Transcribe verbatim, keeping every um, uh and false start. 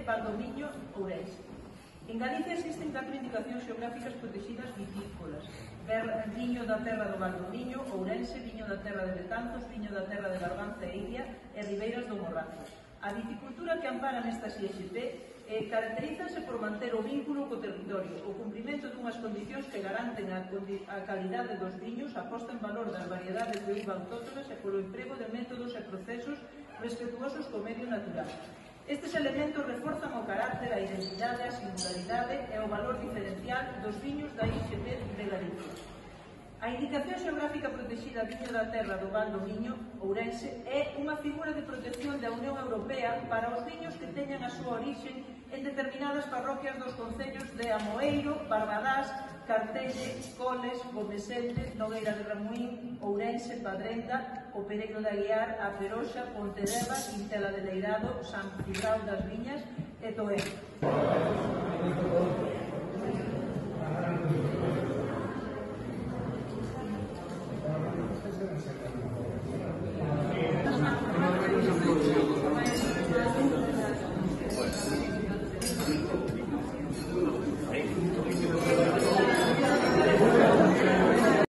de Valdomiño, Ourense. En Galicia existen catro indicacións xeográficas protegidas vitícolas: viño da terra do Valdomiño, Ourense, viño da terra de Betanzos, viño da terra de Barbanza e Iria e ribeiras do Morrazo. A viticultura que ampara nestas I X P eh, caracterízase por manter o vínculo co territorio, o cumprimento dunhas condicións que garanten a, a calidade dos viños, a posta en valor das variedades de uva autóctonas e polo emprego de métodos e procesos respetuosos co medio natural. Estes elementos reforzan o carácter, a identidade, a singularidade e o valor diferencial dos viños da I X P de Galicia. A indicación xeográfica protegida viño da terra do Val do Miño, Ourense, é unha figura de protección da Unión Europea para os viños que teñan a súa orixe en determinadas parroquias dos concellos de Amoeiro, Barbadás, Cartelle, Coles, Gomesende, Nogueira de Ramuín, Ourense, Padrenda, O Pereiro de Aguiar, A Feroxa, Pontedeva, Quintela de Leirado, San Cibrao das Viñas e Toén.